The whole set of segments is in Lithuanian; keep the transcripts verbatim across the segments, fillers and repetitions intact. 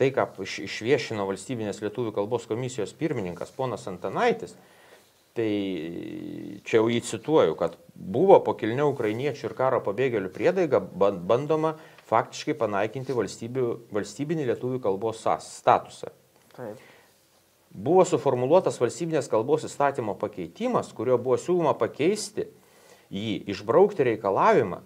tai, ką išviešino valstybinės lietuvių kalbos komisijos pirmininkas ponas Antanaitis, tai čia jau jį cituoju, kad buvo po kilnia ukrainiečių ir karo pabėgėlių priedaiga bandoma faktiškai panaikinti valstybinį lietuvių kalbos statusą. Taip. Buvo suformuluotas valstybinės kalbos įstatymo pakeitimas, kurio buvo siūloma pakeisti jį, išbraukti reikalavimą,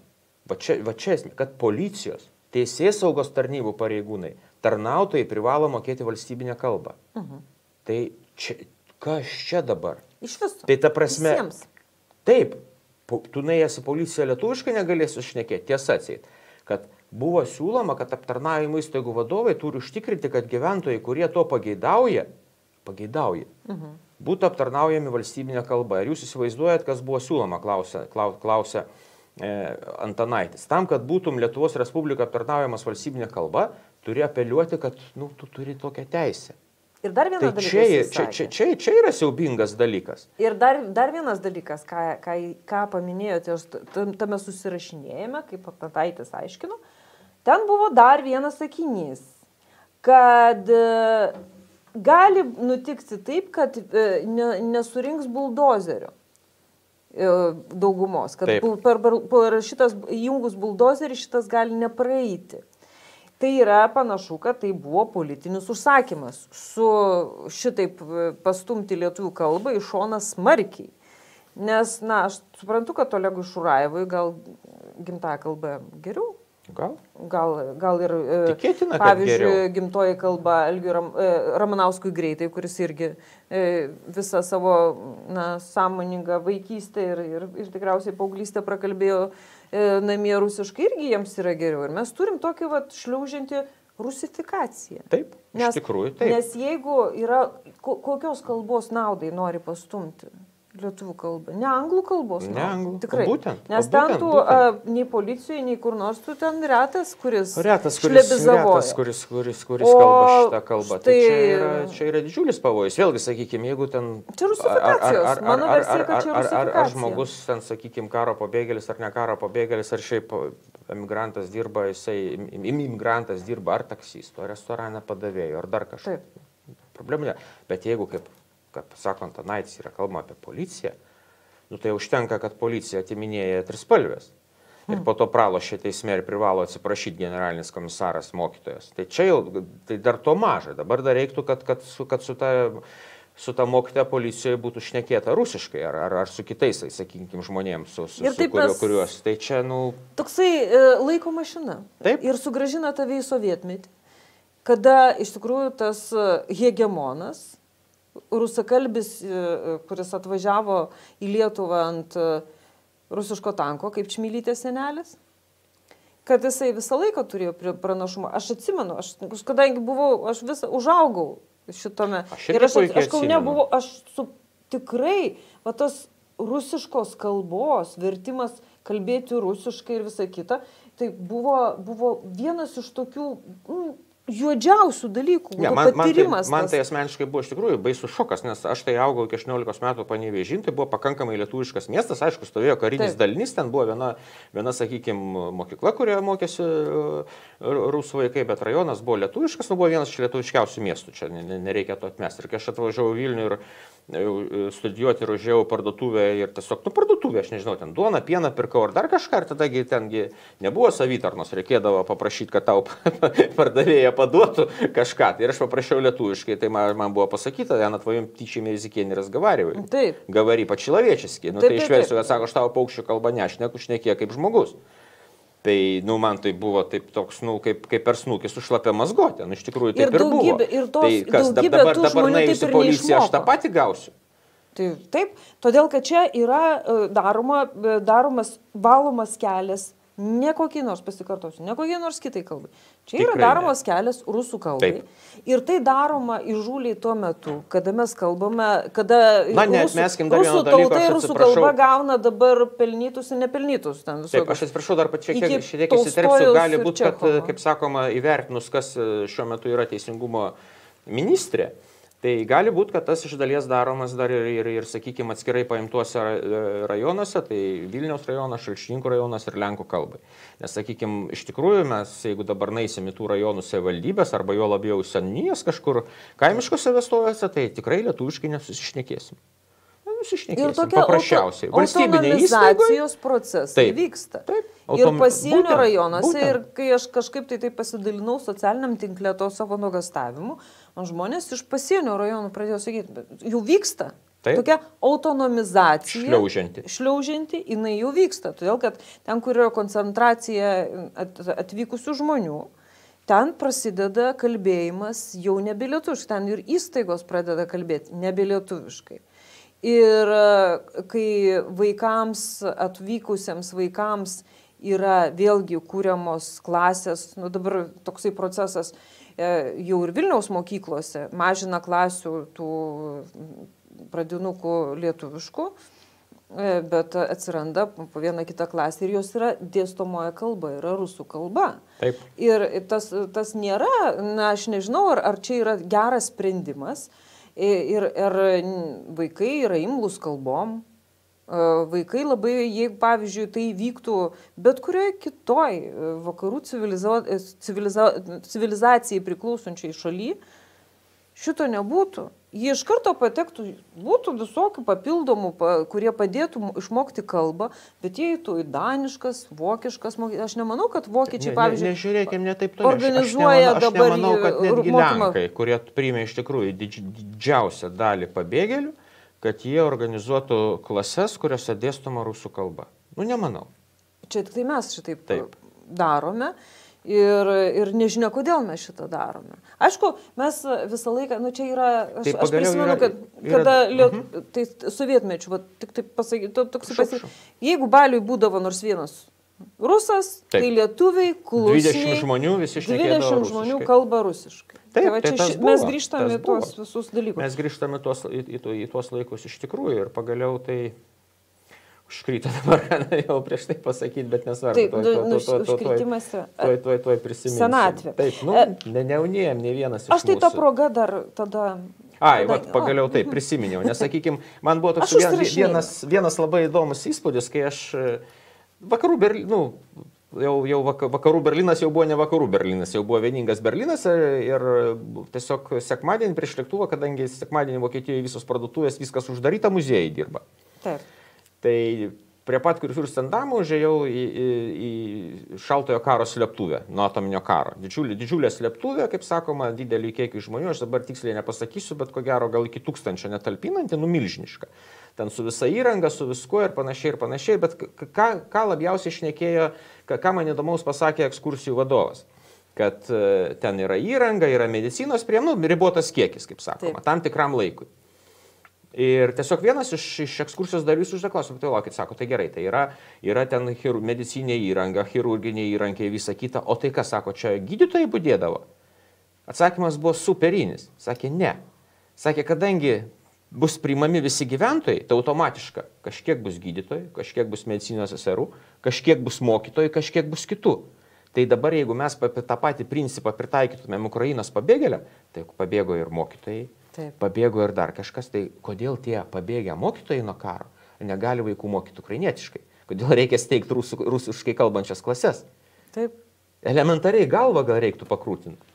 va čia, va čia, kad policijos, teisės saugos tarnybų pareigūnai, tarnautojai privalo mokėti valstybinę kalbą. Mhm. Tai čia, kas čia dabar? Iš viso. Tai ta prasme, visiems. Taip, tu nuėjęs į policiją lietuviškai negalėsi šnekėti, tiesa atseit, kad buvo siūloma, kad aptarnavimo įstaigų vadovai turi užtikrinti, kad gyventojai, kurie to pageidauja, pageidauja, Mhm. būtų aptarnaujami valstybinė kalba. Ir jūs įsivaizduojat, kas buvo siūloma, klausia, klausia e, Antanaitis. Tam, kad būtum Lietuvos Respublika aptarnaujamas valstybinė kalba, turi apeliuoti, kad nu, tu turi tokią teisę. Ir dar vienas Tai dalykas. čia, čia, čia, čia, čia yra siaubingas dalykas. Ir dar, dar vienas dalykas, ką, ką, ką paminėjote, aš tame susirašinėjame, kaip Antanaitis aiškino, ten buvo dar vienas sakinys, kad gali nutikti taip, kad ne, nesurinks buldozerio daugumos, kad Taip. per, per šitas įjungus buldozerį šitas gali nepraeiti. Tai yra panašu, kad tai buvo politinis užsakymas su šitaip pastumti lietuvių kalbą į šoną smarkiai. Nes, na, aš suprantu, kad Olegui Šurajevui gal gimtąją kalbą geriau. Gal? Gal, gal ir, Tikėtina, pavyzdžiui, gimtoji kalba Algiui Ram, Ramanauskui Greitai, kuris irgi visą savo na, sąmoningą vaikystę ir, ir, ir tikriausiai paauglystę prakalbėjo namie rusiškai, irgi jiems yra geriau. Ir mes turim tokį vat, šliaužiantį rusifikaciją. Taip, nes, iš tikrųjų taip. Nes jeigu yra, kokios kalbos naudai nori pastumti lietuvių kalbą, ne anglų kalbos. Ne anglų, tikrai. Būtent. Nes ten tu a, nei policijoje, nei kur nors tu ten retas, kuris Retas, kuris, retas, kuris, kuris, kuris o, kalba šitą kalbą. Štai... Tai čia yra, čia yra didžiulis pavojus. Vėlgi, sakykime, jeigu ten... Čia rusifikacijos. Mano versija, kad čia rusifikacija. Ar, ar, ar žmogus ten, sakykime, karo pabėgėlis ar ne karo pabėgėlis, ar šiaip emigrantas dirba, jisai, imigrantas dirba ar taksisto, ar restorane padavėjo, ar dar kažką. Problemų ne. Bet jeigu, kaip, kaip sako Antanaitis, yra kalbama apie policiją, nu tai užtenka, kad policija atiminėja trispalvės. Ir po to pralošia teisme ir privalo atsiprašyti generalinis komisaras mokytojas. Tai čia jau, tai dar to maža. Dabar dar reiktų, kad, kad, su, kad su ta, su ta mokytoja policijoje būtų šnekėta rusiškai, ar, ar, ar su kitais, sakykime, žmonėms, su, su, su kurio, kuriuos. Tai čia, nu... Toksai e, laiko mašina. Taip. Ir sugrąžina tave į sovietmetį, kada iš tikrųjų tas hegemonas, rusakalbis, kuris atvažiavo į Lietuvą ant rusiško tanko, kaip Čmilytės senelis, kad jisai visą laiką turėjo pranašumą. Aš atsimenu, aš, kadangi buvau, aš visą užaugau šitame. Aš ir aš, aš Kaune atsimenu. buvau, aš su tikrai, va tas rusiškos kalbos, vertimas kalbėti rusiškai ir visa kita, tai buvo, buvo vienas iš tokių... Mm, juodžiausių dalykų, ja, man, patyrimas. Man tai, man tai asmeniškai buvo iš tikrųjų baisus šokas, nes aš tai augau iki aštuoniolikos metų Panevėžy, tai buvo pakankamai lietuviškas miestas, aišku, stovėjo karinis Taip. dalinys, ten buvo viena, viena sakykime, mokykla, kurioje mokėsi rusų vaikai, bet rajonas buvo lietuviškas, nu buvo vienas iš lietuviškiausių miestų, čia nereikia to atmesti. Ir kai aš atvažiavau Vilnių ir studijuoti ir užėjau parduotuvę ir tiesiog, nu parduotuvė, aš nežinau, ten duoną, pieną pirkau ar dar kažką, ir tadagi tengi nebuvo savitarnos, reikėdavo paprašyti, kad tau pardavėja paduotų kažką. Ir aš paprašiau lietuviškai, tai man, man buvo pasakyta, я на твоем птичьем языке не разговариваю. Taip. Говори по-человечески. Nu, taip, tai išversiu, kad sako, aš tavo paukščių kalbą nešneku, šnekė kaip žmogus. Tai, nu, man tai buvo taip toks, nu, kaip, kaip per snukį su šlapia mazgotė. Nu, iš tikrųjų, taip ir, ir buvo. Ir tos, tai kas dabar, dabar nuėjusi policija, aš tą patį gausiu. Tai, taip, todėl, kad čia yra daroma, daromas valomas kelias, ne kokiai nors, pasikartosiu, ne kokiai nors kitai kalbai. Čia Tikrai yra daromas ne. kelias rusų kalbai. Taip. Ir tai daroma įžūliai tuo metu, kada mes kalbame, kada Na, rusų, rusų tauta ir rusų kalba gauna dabar pelnytus ir nepelnytus. Ten Taip, aš atsiprašau, dar šiek tiek, šiek tiek įsiterpsiu, gali būti, kad, kaip sakoma, įvertinus, kas šiuo metu yra teisingumo ministrė, Tai gali būti, kad tas iš dalies daromas dar ir, ir, ir sakykime, atskirai paimtuose rajonuose, tai Vilniaus rajonas, Šalčininkų rajonas ir Lenkų kalbai. Nes, sakykime, iš tikrųjų mes, jeigu dabar naisim į tų rajonų savivaldybės arba jo labiau senijas kažkur kaimiškose vietovėse, tai tikrai lietuviškai nesusišnekėsim. Ir tokia paprasčiausiai. Autonomizacijos procesai taip, vyksta. Taip, autom... Ir pasienio būtent, rajonuose, būtent. Ir kai aš kažkaip tai, tai pasidalinau socialiniam tinklė to savo nuogastavimu, žmonės iš pasienio rajonų pradėjo sakyti, jau vyksta. Taip. Tokia autonomizacija. Šliaužianti. Šliaužianti, jinai jau vyksta. Todėl, kad ten, kur yra koncentracija atvykusių žmonių, ten prasideda kalbėjimas jau nebelietuviškai. Ten ir įstaigos pradeda kalbėti nebelietuviškai. Ir kai vaikams, atvykusiems vaikams yra vėlgi kūriamos klasės, nu dabar toksai procesas jau ir Vilniaus mokyklose mažina klasių tų pradinukų lietuviškų, bet atsiranda po vieną kitą klasę ir jos yra dėstomoja kalba, yra rusų kalba. Taip. Ir tas, tas nėra, na aš nežinau, ar, ar čia yra geras sprendimas. Ir, ir vaikai yra imlūs kalbom, vaikai labai, jeigu pavyzdžiui tai vyktų bet kurioje kitoj vakarų civiliza, civiliza, civilizacijai priklausančiai šaly, šito nebūtų. Jie iš karto patektų, būtų visokių papildomų, kurie padėtų išmokti kalbą, bet jie eitų į daniškas, vokiškas, aš nemanau, kad vokiečiai, ne, pavyzdžiui, ne, nežiūrėkim, ne taip toliau. organizuoja aš, aš dabar nemanau, kad netgi mokymą. Lenkai, kurie priėmė iš tikrųjų didž, didžiausią dalį pabėgėlių, kad jie organizuotų klases, kuriuose dėstoma rusų kalba. Nu, nemanau. Čia tik tai mes šitaip taip. darome. Ir, ir nežinia, kodėl mes šitą darome. Aišku, mes visą laiką, nu čia yra, aš, aš prisimenu, kad yra, kada yra, liet, uh-huh. tai sovietmečių, va, tik taip pasakyti, toks pasakyti, jeigu baliui būdavo nors vienas rusas, taip. Tai lietuviai, klusniai, dvidešimt žmonių visi šnekėdavo rusiškai. dvidešimt žmonių kalba rusiškai. Taip, tai va, tai čia, buvo, mes grįžtame į tuos buvo. visus dalykus. Mes grįžtame tuos, į, į, į tuos laikus iš tikrųjų ir pagaliau tai... Užkryto dabar, jau prieš tai pasakyti, bet nesvarbu. Taip, nu, užkrytimas yra. Tuoj, tuoj, tuoj prisiminsiu. Senatvė. Taip, nu, ne, neunėjom, ne vienas iš mūsų. Aš tai tą progą dar tada... Ai, tada, vat, pagaliau taip prisiminiau, nes, sakykime, man buvo toks vienas, vienas labai įdomus įspūdis, kai aš vakarų Berlynas, nu, jau, jau vakarų Berlynas jau buvo ne vakarų Berlynas, jau buvo vieningas Berlynas ir tiesiog sekmadienį prieš lėktuvą, kadangi sekmadienį Vokietijoje visos parduotuvės, viskas uždaryta, muziejai dirba. Taip. Tai prie pat Kurfiurstendamo užėjau į, į, į šaltojo karo slėptuvę, nuo atominio karo. Didžiulė, didžiulė slėptuvė, kaip sakoma, didelį kiekį žmonių, aš dabar tiksliai nepasakysiu, bet ko gero gal iki tūkstančio netalpinanti, nu milžiniška. Ten su visa įranga, su viskuo ir panašiai ir panašiai, bet ką, ką labiausiai šnekėjo, ką man įdomaus pasakė ekskursijų vadovas. Kad ten yra įranga, yra medicinos priemonių, nu, ribotas kiekis, kaip sakoma, Taip. tam tikram laikui. Ir tiesiog vienas iš, iš ekskursijos dalyvių uždaklausė, tai laukit, sako, tai gerai, tai yra, yra ten chir, medicinė įranga, chirurginė įrankiai, visa kita, o tai kas, sako, čia gydytojai budėdavo? Atsakymas buvo superinis, sakė, ne. Sakė, kadangi bus priimami visi gyventojai, tai automatiška, kažkiek bus gydytojai, kažkiek bus medicinos seserų, kažkiek bus mokytojai, kažkiek bus kitų. Tai dabar, jeigu mes tą patį principą pritaikytumėm Ukrainos pabėgėliam, tai pabėgo ir mokytojai, Taip. pabėgo ir dar kažkas, tai kodėl tie pabėgę mokytojai nuo karo negali vaikų mokyti ukrainietiškai? Kodėl reikia steigti rusų, rusiškai kalbančias klases? Taip. Elementariai galvą gal reiktų pakrūtinti.